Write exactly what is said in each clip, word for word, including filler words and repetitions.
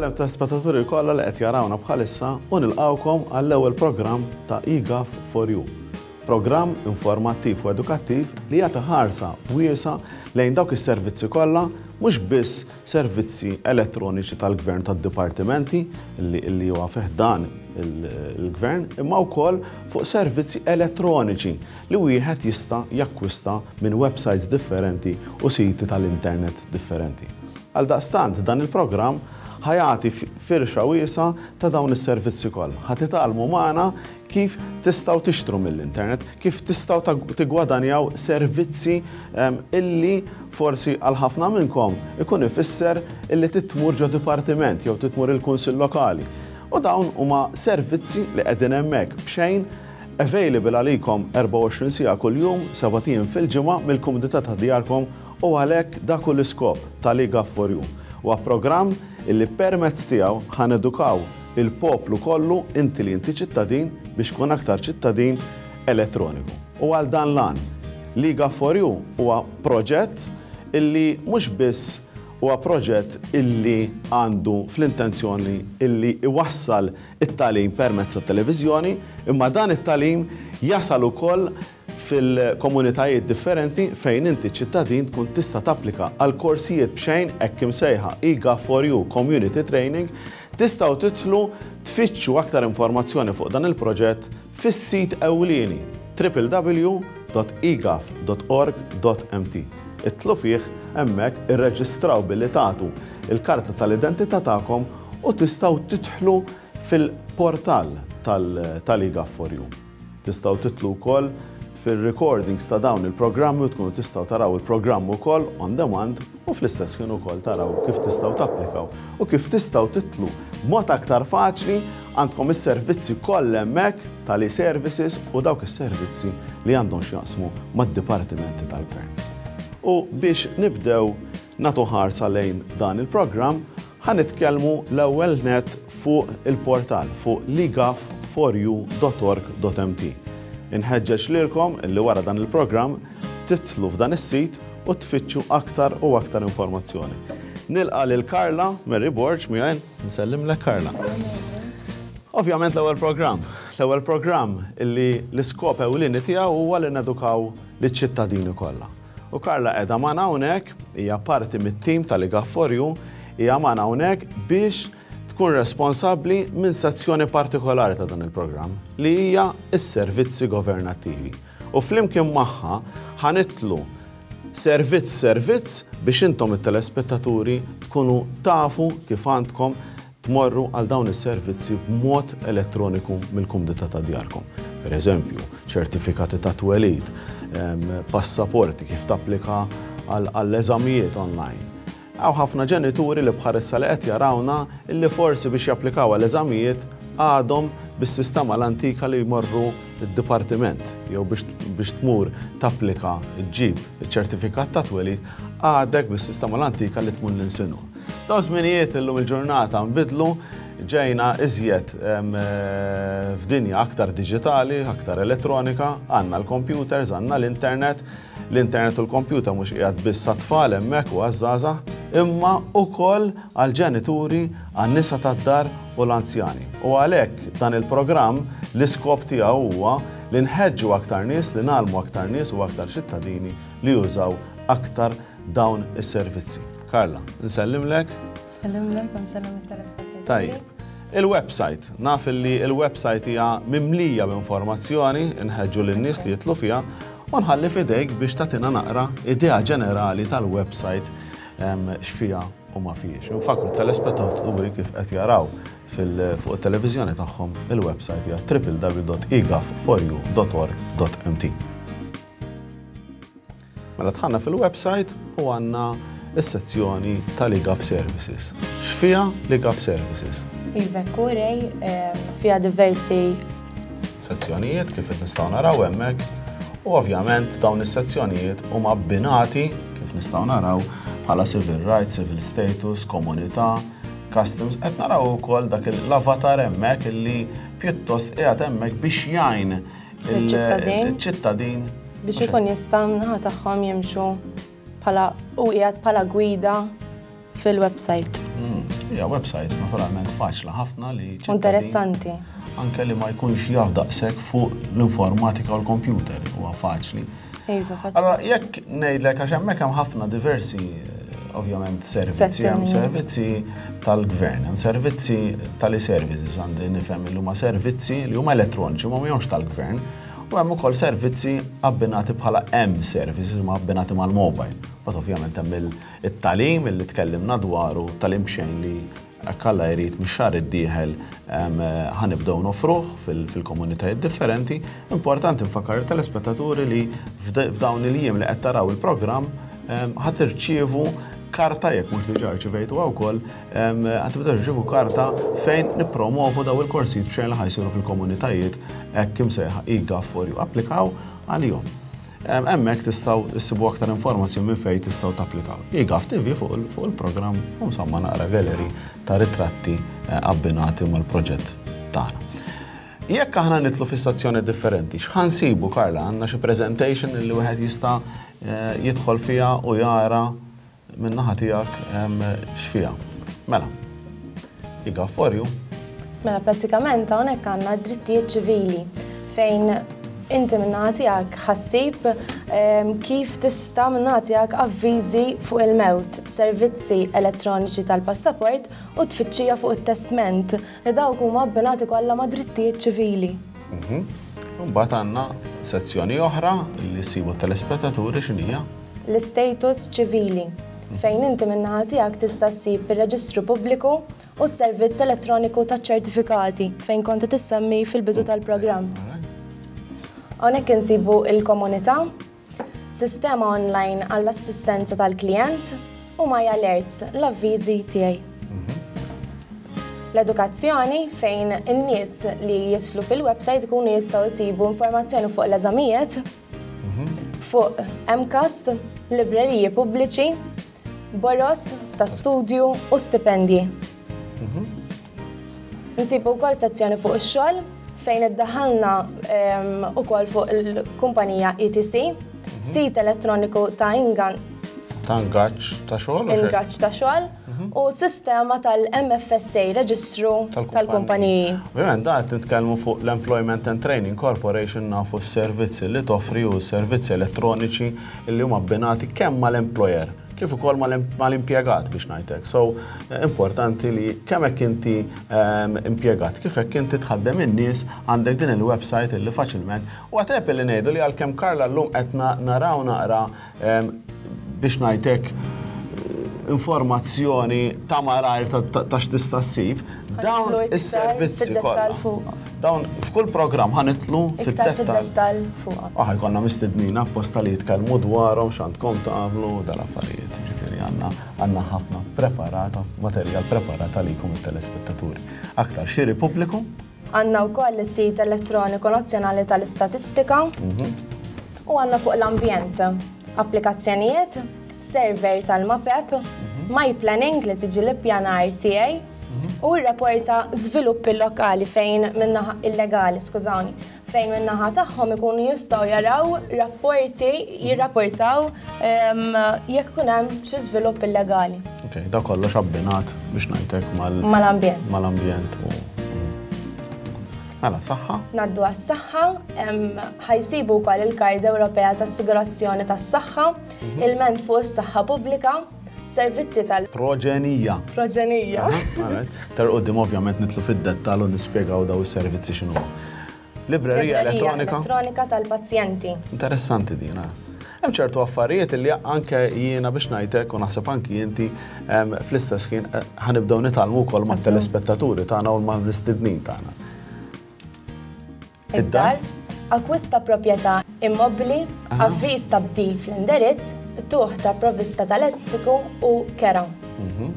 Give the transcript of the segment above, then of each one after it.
Insellem telespettaturi kollha li qed jarawna bħalissa u nilqawkom għall-ewwel programm ta' eGov for You. Programm informattiv u edukattiv li jagħti ħarsa wiesgħa lejn dawk is-servizzi kollha, mhux biss servizzi elettroniċi tal-gvern, tad-dipartimenti li, li huwa fih dan il-gvern, imma wkoll fuq servizzi elettroniċi li wieħed jista' jakkwista minn websites differenti u siti tal-internet differenti. Għal daqstant dan il-programm ħa jagħti firxa wiesgħa ta' dawn is-servizzi kollha. Ħa titgħallmu magħna kif tistgħu tixtru mill-internet, kif tistgħu tigwadanjaw servizzi illi forsi għal ħafna minnkom ikun ifisser illi tmur ġo dipartiment jew tmur il-kunsill lokali. U dawn huma servizzi li qegħdin hemmhekk b'xejn, available għalikom erbgħa u għoxrin siegħa kuljum, sebat ijiem fil-ġimgħa, mill-kumdità ta' djarkom, u għalhekk dak hu l-iskop tal-eGov for You. Huwa programm illi permezz tiegħu ħa nedukaw il-poplu kollu, inti li inti ċittadin, biex tkun aktar ċittadin elettroniku. U għal dan l-għan, l-eGov for You huwa proġett illi mhux biss huwa proġett illi għandu fl-intenzjoni illi iwassal it-tagħlim permezz tat-televiżjoni, imma dan it-tagħlim jasal ukoll fil-komunitajiet differenti fejn inti ċittadin tkun tista' tapplika għal korsijiet b'xejn, hekk imsejħa eGov for You Community Training. Tistgħu tidħlu tfittxu aktar informazzjoni fuq dan il-proġett fis-sit ewlieni w w w punt egov punt org punt m t. Idħlu fih hemmhekk, irreġistraw billi tagħtu il-karta tal-identità tagħkom u tistgħu tidħlu fil-portal tal-eGov for You. Tistgħu tidħlu wkoll fil-recordings ta' dawn il-programmi u tkunu tistgħu taraw il-programm ukoll on demand u fl-istess ħin ukoll taraw kif tistgħu tapplikaw u kif tistgħu tidħlu b'mod aktar faċli. Għandkom is-servizzi kollha hemmhekk tal-e-services u dawk is-servizzi li għandhom x'jaqsmu mad-dipartimenti tal-gvern. U biex nibdew nagħtu ħarsa lejn dan il-programm, ħa nitkellmu l-ewwel net fuq il-portal, fuq l egov four u punt org punt m t. Inħeġġeġ lilkom illi wara dan il-programm tidħlu f'dan is-sit u tfittxu aktar u aktar informazzjoni. Nilqa' lil Carla Mary Borg miegħi, nsellimlek, Carla. Ovvjament l-ewwel programm, l-ewwel programm illi l-iskop ewlieni tiegħu huwa li nedukaw liċ-ċittadini kollha. U Carla qiegħda magħna hawnhekk, hija parti mit-tim tal-eGov for You, hija magħna hawnhekk biex tkun responsabbli minn sezzjoni partikolari ta' dan il-programm li hija s-servizzi governattivi. U flimkien magħha ħa nidħlu servizz servizz biex intom it-telespettaturi tkunu tafu kif għandkom tmorru għal dawn is-servizzi b'mod elettroniku mill-kumdità ta' djarkom. Per eżempju, ċertifikati ta' twelid, passaporti, kif tapplika għall-eżamijiet online. Hawn ħafna ġenituri li bħalissa li qed jarawna illi forsi biex japplikaw għall-eżamijiet għadhom bis-sistema l-antika li jmorru id-dipartiment, jew biex tmur tapplika ġġib iċ-ċertifikat ta' twelid għadek bis-sistema l-antika li tmur l-insinu. Daw żminijiet illum il-ġurnata nbidlu, ġejna iżjed f'dinja aktar diġitali, aktar elettronika, għandna l-computers, għandna l-internet. L-internet u l-computer mhux qiegħed biss tfal hemmhekk u għaż-żgħażagħ, imma ukoll għall-ġenituri, għan-nisa tad-dar u l-anzjani. U għalhekk dan il-programm l-iskop tiegħu huwa li nħeġġu aktar nies, li ngħallmu aktar nies u aktar ċittadini li jużaw aktar dawn is-servizzi. Carla, nsellimlek. Nsellimlek u nsellem it-telespettaturi. Tajjeb. Il-website, naf li il-website hija mimlija b'informazzjoni, nħeġġu lin-nies li jidħlu fiha u nħalli f'idejk biex tagħtina naqra idea ġenerali tal-website, x'fiha u ma fihiex. Nfakru telespettaturi kif qed jaraw fuq it-televiżjoni tagħhom, il-website hija w w w punt egov four u punt org punt m t. Mela dħalna fil-website u għandna is-sezzjoni tal-eGov Services. X'fiha l-eGov Services? Iva, kurej, fiha diversi sezzjonijiet kif qed nistgħu naraw hemmhekk, u ovvjament dawn is-sezzjonijiet huma abbinati kif nistgħu naraw bħala civil rights, civil status, komunità, customs. Qed naraw ukoll dak l-avatar hemmhekk illi pjuttost qiegħed hemmhekk biex jgħin il-ċittadin. Il-ċittadin biex ikun jista' naħa tagħhom jimxu bħala u qiegħed bħala gwida fil-website. Mm. Hija website naturalment faċli ħafna li ċittadin Interessanti. anke li ma jkunx jaf daqshekk fuq l-informatika u l-computer, huwa faċli. Iva, faċli. Allora, jekk ngħidlek, għax hemmhekk hemm ħafna diversi eh, ovvjament servizzi, hemm Sezzjonijiet. servizzi tal-gvern, hemm servizzi tal-e-services, għandi nifhem li huma servizzi li huma elettroniċi, ma mhumiex tal-gvern, u hemm ukoll servizzi abbinati bħala M-services, huma abbinati mal-mobile. But ovvjament hemm il- it-tagħlim li tkellimna dwaru, tagħlim b'xejn li jekk Alla jrid mix-xahar id-dieħel ħa nibdew nofruh fil- fil-komunitajiet differenti. Importanti nfakkar telespettaturi li f'da- f'dawn il-jiem li qed taraw il-programm em, ħa tirċievu karta, jekk mhux diġà rċivejtu wkoll, ħa tibdew tirċievu karta fejn nippromovu daw il-korsijiet b'xejn li ħa jsiru fil-komunitajiet hekk imsejħa e-Gov for You. Applikaw għalihom. Em, Hemmhekk tistgħu issibu aktar informazzjoni minn fejn tistgħu tapplikaw. E-Gov T V fuq il- fuq il-programm u insomma naqra gallery ta' ritratti eh, abbinati mal-proġett tagħna. Jekk aħna nidħlu fis-sezzjoni differenti, x'ħa nsibu, Karla? Għandna xi presentation li wieħed jista' eh, jidħol fiha u jara min-naħa tiegħek em, x'fiha. Mela. e-Gov for You. Mela, prattikament hawnhekk għandna drittijiet ċivili fejn inti min-naħa tiegħek ħa ssib em, kif tista' min-naħa tiegħek avviżi fuq il-mewt, servizzi elettroniċi tal-passaport u tfittxija fuq it-testment li dawk huma abbinati kollha ma' drittijiet ċivili. Mbagħad għandna sezzjoni oħra li sibu telespettaturi, x'inhija? L-istatus ċivili fejn inti min-naħa tiegħek tista' ssib ir-reġistru pubbliku u s-servizz elettroniku taċ-ċertifikati fejn kont tissemmi fil-bidu tal-programm. Hawnhekk insibu il-komunità, sistema online għall-assistenza tal-klient u My Alerts, l-avviżi tiegħi. L-edukazzjoni fejn in-nies li jidħlu fil-website ikunu jistgħu jsibu informazzjoni fuq l-eżamijiet, fuq M CAST, libreriji pubbliċi, boros ta' studju u stipendji. Nsibu wkoll sezzjoni fuq ix-xogħol fejn iddaħħalna em, ukoll fuq il-kumpanija E T C, sit elettroniku ta' ingan Ta' ingaġġ ta' xogħol u xejn? Ingaġġ ta' xogħol u sistema tal-M F S A, reġistru tal-kumpaniji. Ovvjament da qed nitkellmu fuq l-Employment and Training Corporation, nafu s-servizzi li toffri u s-servizzi elettroniċi li huma abbinati kemm mal-employer kif ukoll mal-impjegat, biex ngħidlek. So eh, importanti li kemm hekk inti ehm, impjegat, kif hekk inti tħaddem in-nies, għandek din il-website illi faċilment u għatep li ngħidu li għalkemm Karla llum qed naraw naqra ehm, biex ngħidlek informazzjoni ta' malajr ta' x'tista' ssib, dawn is-servizzi kollha. Dawn f'kull programm ħa nidħlu fid-dettall fuq. Aħ jkollna mistednin apposta li jitkellmu dwarhom, x'għandkom tagħmlu dal-affarijiet. Ġifieri għandna għandna ħafna preparata, materjal preparat għalikom it-telespettaturi. Aktar xiri pubbliku. Għandna wkoll is-sit elettroniku nazzjonali tal-istatistika mhm. u għandna fuq l-ambjent applikazzjonijiet, server tal-MAPEP, mhm. My Planning li tiġi l-ippjanar tiegħi mhm. u r-rapporta żviluppi lokali fejn min-naħa illegali, skużawni, fejn min-naħa tagħhom ikunu jistgħu jaraw rapporti, jirrapportaw jekk ikun hemm xi żvilupp illegali. Ok, da kollox abbinat biex ngħidlek mal mal-ambjent. Mal-ambjent u Mela, saħħa? Ngħaddu għas-saħħa, ħa jsibu wkoll il-Kard Ewropea tas-Assigurazzjoni tas-Saħħa, mhm. ilment fuq is-saħħa pubblika, servizzi tal- Proġenija. Proġenija. Tar qudiem ovvjament nidħlu fid-dettall u nispjegaw daw is-servizzi x'inhu. Librerija elettronika. Elettronika tal-pazjenti. Interessanti din. Hemm ċertu affarijiet li anke jiena biex ngħidlek u naħseb anki inti fl-istess kien eh, ħa nibdew nitgħallmu wkoll mat-telespettaturi tagħna u mal-mistednin tagħna. Id-dar, akkwista proprjetà immobbli, avviż ta' bdil fl-indirizz, tuħ ta' provvista tal-elettriku u kera. Mhm.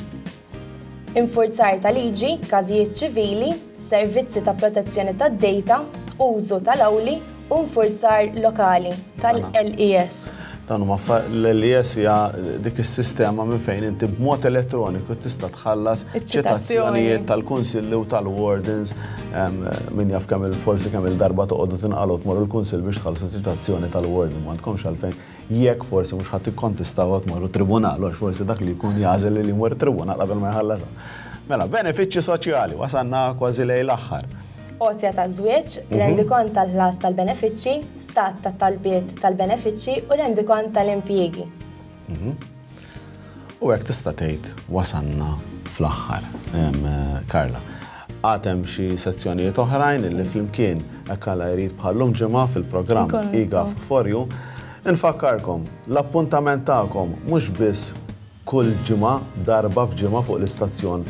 Infurzar ta' liġi, każijiet ċivili, servizzi ta' protezzjoni tad-data, użu tal-awli u nfurzar lokali tal-L E S. Dan huma l-L E S hija dik is-sistema minn fejn inti b'mod elettroniku tista' tħallas ċitazzjonijiet tal-kunsilli u tal-wardens. Min jaf kemm il-forsi kemm il-darba toqgħodu tinqalgħu tmorru l-kunsill biex tħallsu ċitazzjoni tal-warden. M'għandkomx għalfejn jekk forsi mhux ħadd ikkontestaw tmorru tribunal, għax forsi dak li jkun jagħżel li jmur tribunal qabel ma jħallasha. Mela, benefiċċji soċjali, wasanna kważi lejn l-aħħar. Għotja ta' żwieġ, rendikont tal-ħlas tal-benefiċċji, stat ta' talbiet tal-benefiċċji u rendikont tal-impjiegi. U hekk tista' tgħid wasanna fl-aħħar, Carla. Għad hemm xi sezzjonijiet oħrajn illi flimkien hekk Alla jrid bħallum ġimgħa fil-programm eGov for You. Infakkarkom, l-appuntament tagħkom mhux biss kull ġimgħa, darba f'ġimgħa fuq l-istazzjon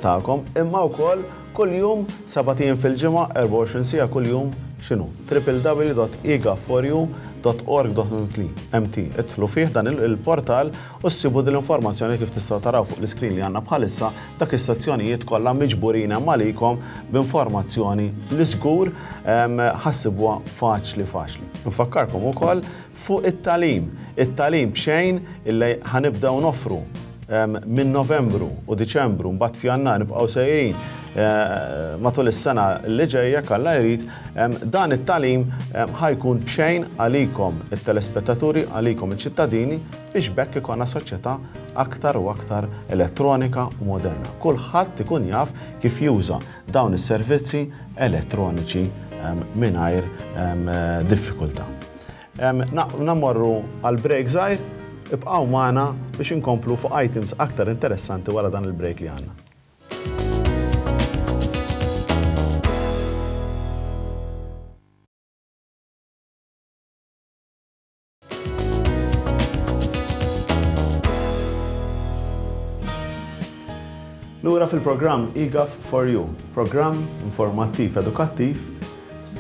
tagħkom, imma wkoll kull jum sebat ijiem fil-ġimgħa, erbgħa u għoxrin siegħa kull jum, x'inhu? w w w dot e gov for you dot org dot m t. Idħlu fih dan il-portal u ssibu din l-informazzjoni kif tistgħu taraw fuq l-iskrin li għandna bħalissa, dak is-sezzjonijiet kollha miġburin hemm għalikom b'informazzjoni li żgur ħassibuha faċli faċli. Nfakkarkom ukoll fuq it-talim. It-talim b'xejn illi ħanibdew noffru minn Novembru u Diċembru, mbagħad f'Jannar nibqgħu sejrin matul is-sena li ġejja Alla jrid, dan it-talim ħajkun b'xejn għalikom it-telespettaturi, għalikom iċ-ċittadini, biex bekk ikollna soċjetà aktar u aktar elettronika u moderna. Kulħadd ikun jaf kif juża dawn is-servizzi elettroniċi mingħajr diffikultà. Nammorru għal break żgħir, ibqgħu magħna biex inkomplu fuq items aktar interessanti wara dan il-break li għandna. Lura fil-programm eGov for You, programm informattiv edukattiv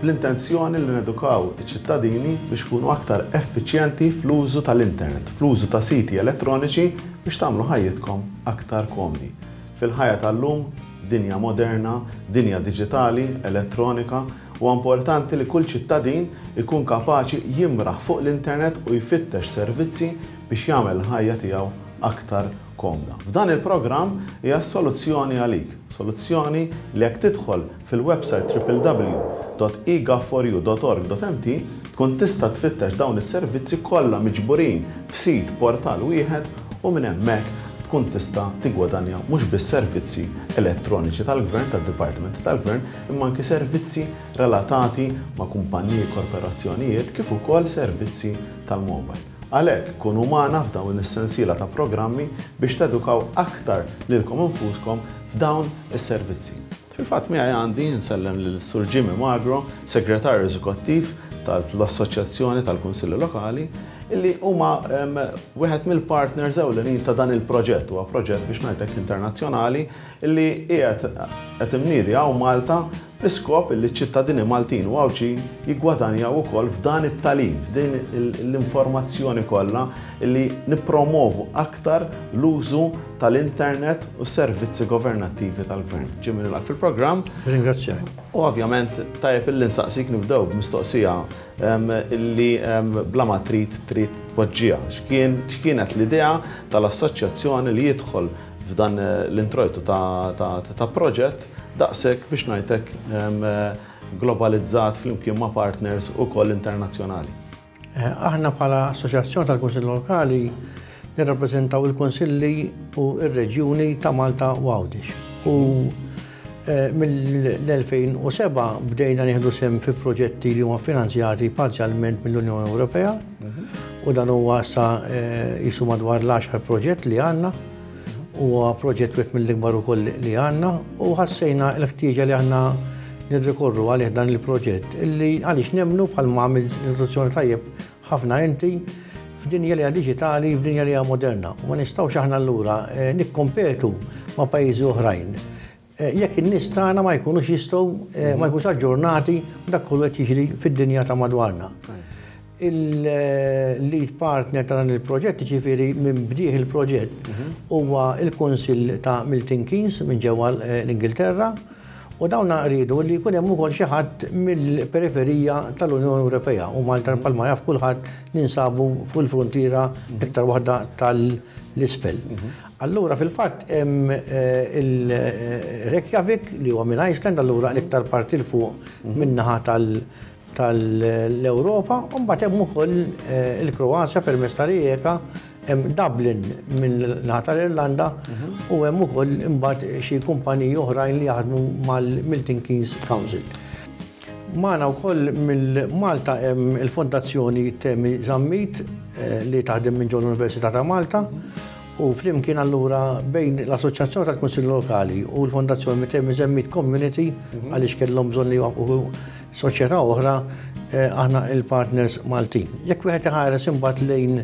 bl-intenzjoni li nedukaw iċ-ċittadini biex ikunu aktar effiċjenti fl-użu tal-internet, fl-użu ta' siti elettroniċi biex tagħmlu ħajjitkom aktar komdi. Fil-ħajja tal-lum, dinja moderna, dinja diġitali, elettronika, huwa importanti li kull ċittadin ikun kapaċi jimraħ fuq l-internet u jfittex servizzi biex jagħmel l-ħajja tiegħu aktar komda. F'dan il-programm hija soluzzjoni għalik, soluzzjoni li jekk tidħol fil-website w w w dot e gov for you dot org dot m t tkun tista' tfittex dawn is-servizzi kollha miġburin f'sit portal wieħed u minn hemmhekk tkun tista' tiggwadanja mhux biss servizzi elettroniċi tal-gvern, tad-dipartimenti tal-gvern, imma anki servizzi relatati ma' kumpaniji, korporazzjonijiet, kif ukoll servizzi tal-mobile. Għalhekk kunu magħna f'dawn is-sensiela ta' programmi biex tedukaw aktar lilkom infuskom f'dawn is-servizzi. Fil-fatt miegħi għandi nsellem lil Sur Jimmy Magro, Segretarju Eżekuttiv tal-Assoċjazzjoni tal-Kunsilli Lokali, illi huma, em, wieħed mill-partners ewlenin ta' dan il-proġett. Huwa proġett biex ngħidlek internazzjonali illi qiegħed qed imniedi hawn Malta l-iskop illi ċ-ċittadini Maltin u Għawdxin jiggwadanjaw ukoll f'dan it-tagħlim, f'din il-, l-informazzjoni kollha illi nippromovu aktar l-użu tal-internet u servizzi governattivi tal-gvern. Jimmy, nilqgħek fil-programm. Ringrazzjak. U ovvjament tajjeb illi nsaqsik nibdew b'mistoqsija, em, illi, em, bla ma trid trid tpoġġiha. X'kien, x'kienet l-idea tal-assoċjazzjoni li jidħol f'dan l-introjtu ta', ta', ta' proġett daqshekk biex ngħidlek, em, globalizzat flimkien ma' partners ukoll internazzjonali? Eh, aħna bħala Assoċjazzjoni tal-Kunsilli Lokali nirrappreżentaw il-Kunsilli u r-Reġjuni ta' Malta u Għawdex. U, eh, mill-elfejn u seba' bdejna nieħdu sehem fi proġetti li huma finanzjati parzjalment mill-Unjoni Ewropea u dan huwa sa, eh, jisu madwar l-għaxar proġett li għandna. Huwa proġett wieħed mill-ikbar ukoll li għandna u ħassejna l-ħtieġa li aħna nirrikorru għalih dan il-proġett illi għaliex nemmnu bħalma għamil l-introduzzjoni tajjeb ħafna inti f'dinja li hija diġitali, f'dinja li hija moderna. U ma nistgħux aħna allura, eh, nikkompetu ma' pajjiżi oħrajn. Eh, jekk in-nies tagħna ma jkunux jistgħu, eh, ma jkunux aġġornati dak kollu qed jiġri fid-dinja ta' madwarna. Il-lead partner ta' dan il-proġett, ġifieri minn bdieħ il-proġett, huwa il-Kunsill ta' Milton Keynes minn ġewwa l-Ingilterra, u dawn rridu li jkun hemm ukoll xi ħadd mill-periferija tal-Unjoni Ewropea u Malta bħalma jaf kulħadd ninsabu fuq il-frontiera iktar waħda tal-isfel. Allura fil-fatt hemm, eh, il-Reykjavik li huwa minn Iceland, allura l-iktar parti l fuq min-naħa tal-, tal-Ewropa, u mbagħad hemm ukoll, eh, il-Kroazja permezz ta' Rijeka Hemm Dublin minn naħa tal-Irlanda u hemm ukoll imbagħad xi kumpaniji oħrajn li jaħdmu mal-Milton Keynes Council. Magħna wkoll mill-Malta hemm il-Fondazzjoni Temi Zammit eh, li taħdem minn ġol l-Università ta' Malta u flimkien allura bejn l-Assoċjazzjoni tal-Kunsill Lokali u l-Fondazzjoni Temi Zammit Community, għaliex kellhom bżonn li jwaqqfu soċjetà oħra, eh, aħna il-partners Maltin. Jekk wieħed iħares imbagħad lejn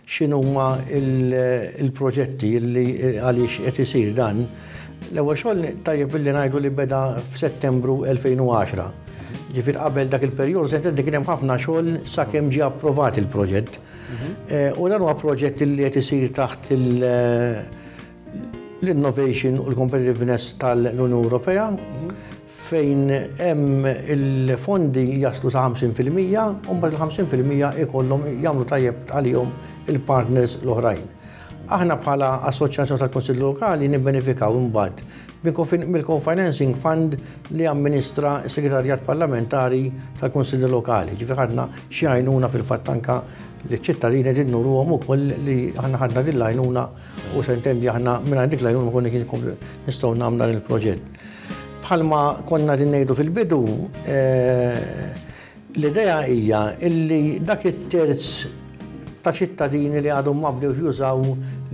x'inhuma il-proġetti li għaliex qed isir dan, l-ewwel xogħol tajjeb billi ngħidu li beda f'Settembru elfejn u għaxra. Ġifier qabel dak il-perjodu se kien hemm ħafna xogħol sakemm ġie approvat il-proġett. Eh, u dan huwa proġett li qed isir taħt l-innovation u l-competitiveness tal-Unjoni Ewropea, fejn hemm il-fondi jaslu sa ħamsin fil-mija u mbagħad il-ħamsin fil-mija ikollhom jagħmlu tajjeb għalihom il-partners l-oħrajn. Aħna bħala Assoċjazzjoni tal-Kunsill Lokali nibbenefikaw imbagħad mill-Co-Financing Fund li amministra s-Segretarjat Parlamentari tal-Kunsilli Lokali. Ġifieri ħadna xi għajnuna, fil-fatt anka li ċittadini din nuruhom ukoll li aħna ħadna din l-għajnuna u s'intendi aħna minn dik l-għajnuna ma konna nistgħu nagħmlu dan il-proġett. Bħalma konna din ngħidu fil-bidu, eh, l-idea hija illi dak it-terz ta' ċittadini li għadhom ma bdewx jużaw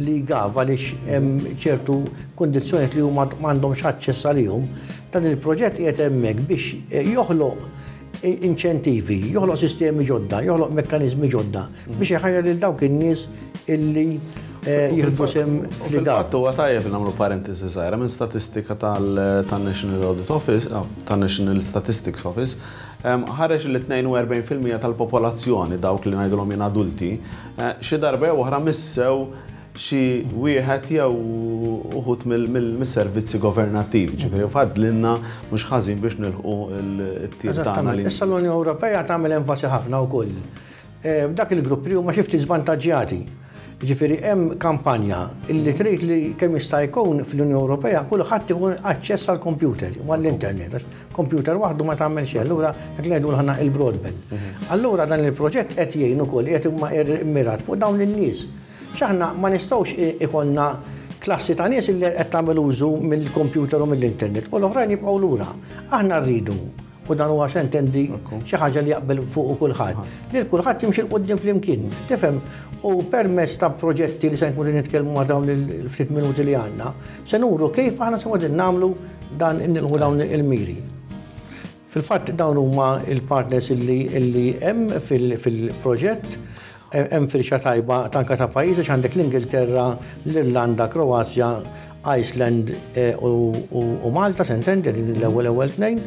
l-eGov għaliex hemm ċertu kundizzjonijiet li huma m'għandhomx aċċess għalihom, dan il-proġett qiegħed hemmhekk biex eh, joħloq inċentivi, joħloq sistemi ġodda, joħloq mekkaniżmi ġodda biex iħajjar lil dawk in-nies illi eh, jieħdu sehem. Fil-fatt huwa tajjeb nagħmlu parentesi żgħira: minn statistika tal-National Audit Office, tan-National Statistics Office, ħareġ li tnejn u erbgħin fil-mija tal-popolazzjoni, dawk li ngħidulhom jien adulti, eh, xi darba jew oħra missew xi wieħed jew uħud mill-servizzi governattivi, ġifieri fadlinna mhux ħażin biex nilħqu t-tir tagħna. Issa l-Unjoni Ewropea tagħmel enfasi ħafna wkoll. Eh, dak il-grupp li huma xi ftit żvantaġġjati. Ġifieri hemm kampanja illi trid li kemm jista' jkun fl-Unjoni Ewropea kulħadd ikun aċċess għall computer u għall-internet. Computer waħdu ma tagħmel xejn, allura dak li ngħidu aħna il-broadband. Mhm. Allura dan il-proġett qed jgħin ukoll, qed imma immirat fuq dawn in-nies. X'aħna ma nistgħux ikollna klassi ta' nies li qed tagħmel użu mill-computer u mill-internet u l-oħrajn jibqgħu lura. Aħna rridu, u dan huwa, s'intendi, xi ħaġa li jaqbel fuq kulħadd, li kulħadd jimxi 'l quddiem flimkien. Tifhem, u permezz ta' proġetti li se nkunu nitkellmu ma' dawn il-ftit minuti li għandna, se nuru kif aħna se qegħdin nagħmlu dan, nilħu dawn il-miri. Fil-fatt dawn huma il-partners illi hemm fil-proġett. Hemm firxa tajba tanka ta' pajjiżi, għandek l-Ingilterra, l-Irlanda, Kroazja, Iceland eh, u Malta, s'intendi, din l-ewwel ewwel tnejn.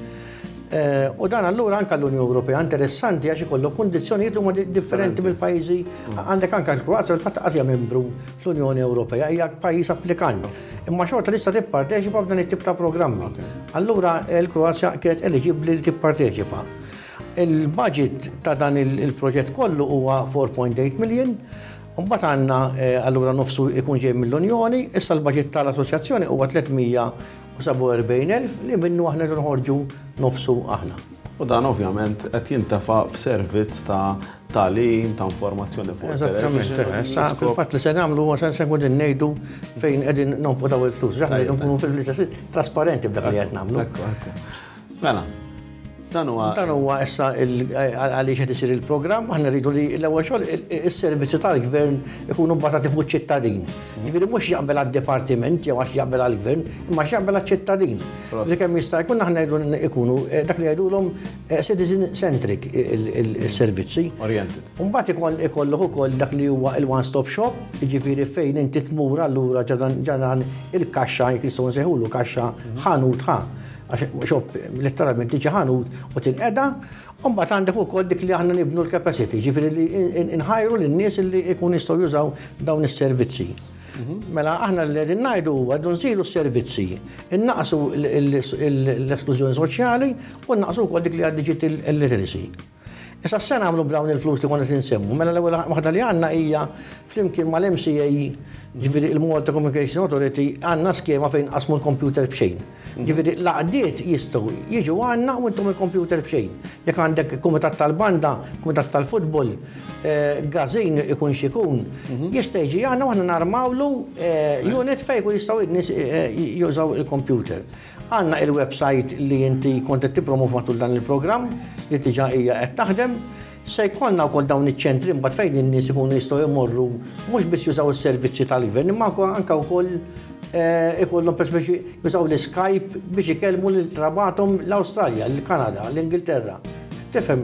Eh, u dan allura anka l-Unjoni Ewropea interessanti għax ikollok kundizzjonijiet huma differenti mill-pajjiżi. Għandek anka l-Kroazja, il-fatt hija membru fl-Unjoni Ewropea, hija pajjiż applikant. Imma xorta tista' tipparteċipa f'dan it-tip ta' programmi. Allura l-Kroazja kienet eliġibbli li tipparteċipa. Il-budget ta' dan il-proġett kollu huwa erbgħa punt tmienja million. Mbagħad għandna eh, allura nofsu ikun ġej mill-Unjoni, issa l-budget tal-assoċjazzjoni huwa tliet mija u sebgħa u erbgħin elf li minnu aħna nħorġu nofsu aħna. U dan ovvjament qed jintefa' f'servizz ta' tagħlim, ta' informazzjoni fuq. Eżattament, eh, fil-fatt li se nagħmlu huwa se nkun ngħidu fejn qegħdin nonfqu daw il-flus. Aħna nkunu fil-istess trasparenti b'dak li qed nagħmlu. Mela, dan huwa Dan huwa issa għaliex qed isir il-programm. Aħna rridu li l-ewwel xogħol is-servizzi tal-gvern ikunu bbażati fuq ċittadin. Jiġifieri mhux jaqbel għad-dipartiment jew għax jaqbel għall-gvern, imma għax jaqbel għaċ-ċittadin. Dik kemm jista' jkun aħna jridu ikunu eh, dak li jgħidulhom eh, citizen centric il-servizzi. Oriented. Mbagħad ikun ikollok ukoll dak li huwa il-one stop shop, jiġifieri fejn inti tmur allura ġo dan il-kaxxa, jekk nistgħu nsejħulu kaxxa, ħanut, ħa għax shop letteralment tiġi ħanut u tinqeda, u mbagħad għandek ukoll dik li aħna nibnu l-capacity, ġifieri li nħajru lin-nies li jkun jistgħu jużaw dawn is-servizzi. Mela aħna li qegħdin ngħidu huwa rridu nżidu s-servizzi, innaqsu l-esklużjoni soċjali u naqsu wkoll dik li għad digital literacy. Issa se nagħmlu b'dawn il-flus li konna nsemmu. Mela l-ewwel waħda li għandna hija flimkien mal-M C A, ġifieri il-Malta Communication Authority, għandna skema fejn qasmu l-computer b'xejn. Ġifieri l-għaqdiet jistgħu jiġu għandna u intom il-computer b'xejn. Jekk għandek kumitat tal-banda, kumitat tal-futbol, eh, gazin ikun xikun, jista' jiġi għandna u aħna narmawlu eh, unit fejn jkun jistgħu n-nies eh, jużaw il-computer. Għandna il-website li inti kont qed tippromov matul dan il-programm li diġà hija qed taħdem. Se jkollna wkoll dawn iċ-ċentri mbagħad fejn in-nies ikunu jistgħu jmorru mhux biss jużaw is-servizzi tal-gvern, imma anke wkoll eh, ikollhom per speċi jużaw l-Skype biex ikellmu lil qrabathom l-Awstralja, l-Kanada, l-Ingilterra. Tifhem,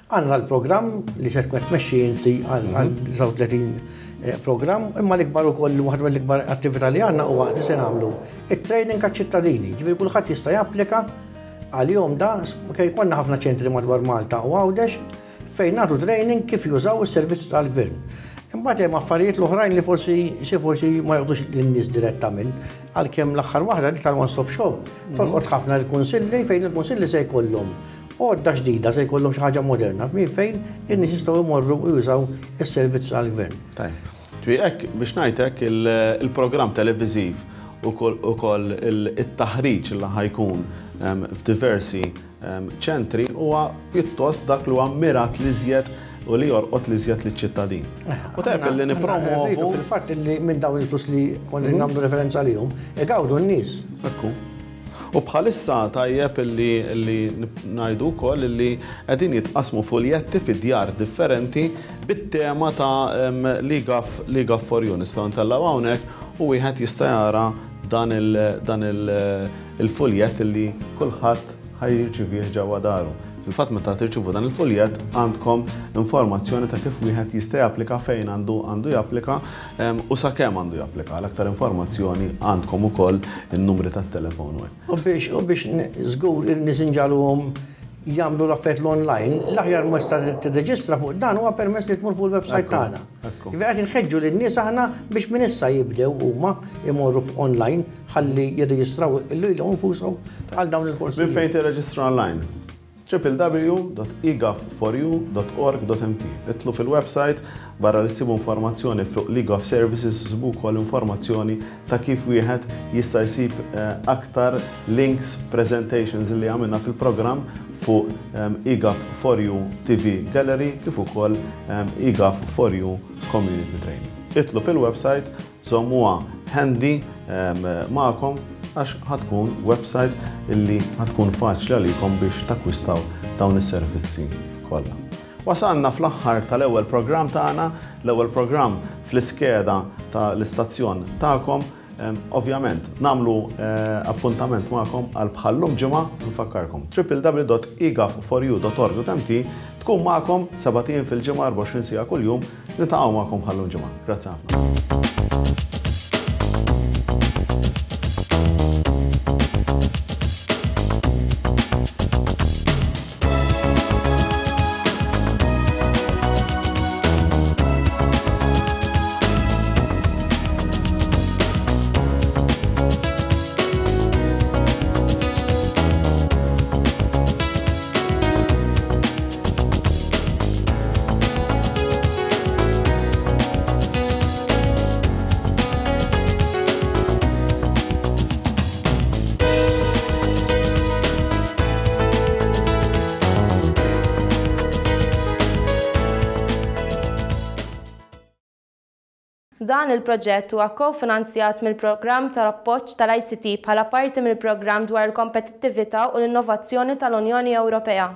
għandna l-programm li se tkun tmexxi inti għal tnejn u tletin eh, programm, imma l-ikbar ukoll, waħda mill-ikbar attività li għandna huwa li se nagħmlu it-training għaċ-ċittadini. Ġifieri kulħadd jista' japplika għal-jum da, kej konna ħafna ċentri madwar Malta u Għawdex fejn nagħtu training kif jużaw is-servizz tal-gvern. Imbagħad hemm affarijiet l-oħrajn li forsi xi forsi ma jgħodux lin-nies direttament, għalkemm l-aħħar waħda li tal-one stop shop tolqot ħafna l-kunsilli, fejn il-kunsilli se jkollhom għodda ġdida, se jkollhom xi ħaġa moderna minn fejn in-nies jistgħu jmorru u jużaw is-servizz tal-gvern. Tajjeb. Ġifieri hekk biex ngħidlek, il-programm televiżiv ukoll it-taħriġ li ħa jkun f'diversi ċentri huwa pjuttost dak li huwa mirat l-iżjed u li jolqot l-iżjed liċ-ċittadin. U tajjeb li nipromovu. Fil-fatt li minn dawn il-flus li konna nagħmlu referenza lihom, igawdu n-nies. Ekku. U bħalissa tajjeb li li ngħidu wkoll li qegħdin jitqasmu fuljetti fi djar differenti bit-tema ta' l-eGov l-eGov for You. Nistgħu ntellgħu hawnhekk u wieħed jista' jara dan il-fuljett li kulħadd ħa jirċivih ġewwa daru. Fil-fatt, meta tirċivu dan il-fuljett għandkom informazzjoni ta' kif wieħed jista' japplika, fejn għandu għandu japplika u sakemm għandu japplika. Għal aktar informazzjoni għandkom ukoll in-numri tat-telefon. U biex u biex żgur in-nies inġagħluhom jagħmlu l-affarijiet l-online, l-aħjar mod ta' tirreġistra fuq dan huwa permess li tmur fuq il-website tagħna. Ġifieri qed inħeġġu lin-nies aħna biex minn issa jibdew huma imorru online ħalli jirreġistraw lilhom infushom għal dawn il-korsi. Minn fejn tirreġistra online? w w w dot egov four u dot org dot m t. Itilgħu fil-website, barra li ssibu informazzjoni fuq l-eGov Services, ssibu wkoll informazzjoni ta' kif wieħed jista' jsib eh, aktar links, presentations li għamilna fil-programm fuq eGov four U T V Gallery kif ukoll eGov four U Community Training. Itilgħu fil-website, żommuha handy magħkom għax ħa tkun website illi ħa tkun faċli għalikom biex takkwistaw dawn is-servizzi kollha. Wasalna fl-aħħar tal-ewwel programm tagħna, l-ewwel programm fl-iskeda tal-istazzjon tagħkom. Ovvjament, nagħmlu eh, appuntament magħkom għal bħallum ġimgħa. Nfakkarkom w w w dot egov four u dot org dot m t tkun magħkom sebat ijiem fil-ġimgħa, erbgħa u għoxrin siegħa kuljum. Niltaqgħu magħkom bħallum ġimgħa. Grazzi ħafna. Dan il-proġett huwa kofinanzjat mill-Programm tal-Appoġġ tal-I C T bħala parti mill-Programm dwar il-Kompetittività u l-Innovazzjoni tal-Unjoni Ewropea.